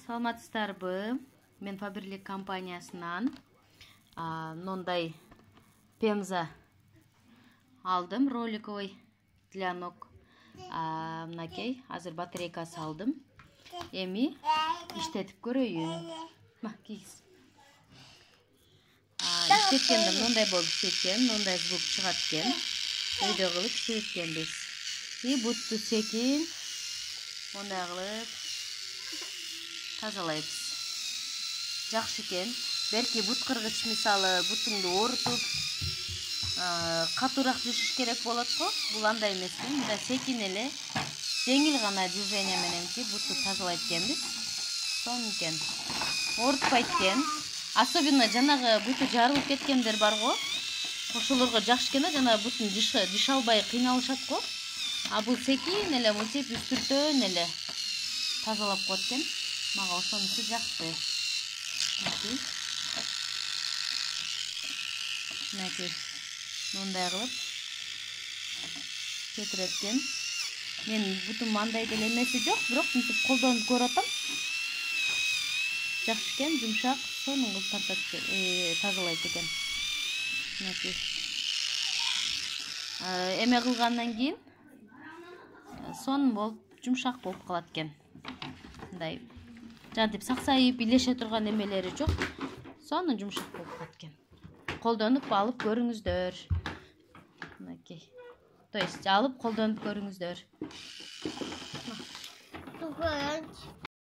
Саламатсыздарбы? Мен Faberlic компаниясынан мындай пемза алдым, роликовый для ног. Мынакей, азыр батарейкасы алдым. Эми иштетип көрөйүн. Кийиз. Иштеткенде мындай болуп иштеткен, мындай звук чыгат экен. Видео кылып иштеткенбиз. И бутту секин мындай кылып тазалайбыз. Жакшы экен. Белки бут кыргыч мисалы бутуңду оорутуп, катуураак жуушуш керек болот го. Бул андай эмес экен. Мындай секин эле жеңил гана движение мененки бутту тазалайт экенбиз. Сонун экен. Оорутпайт экен. Особенно жанагы буту жарылып кеткендер бар го. Ошолорго жакшы экен да, жана бутун жыш албай кыйналышат го. А бул секин эле мынтип үстүртөн эле тазалап коет экен. Мага ошонусу жакты. Мынакей мындай кылып кетирет экен. Мен бутум андай деле эмеси жок, бирок мынтип колдонуп көрүп атам. Жакшы экен, жумшак, сонун кылып тазалайт экен. Мынакей. Эме кылгандан кийин сонун болуп, жумшак болуп калат экен. Мындай жантип саксайып илеше турган эмелери жок. Сонун жумшак болуп калат экен. Колдонуп алып көрүңүздөр. Мынакей. То есть алып колдонуп көрүңүздөр.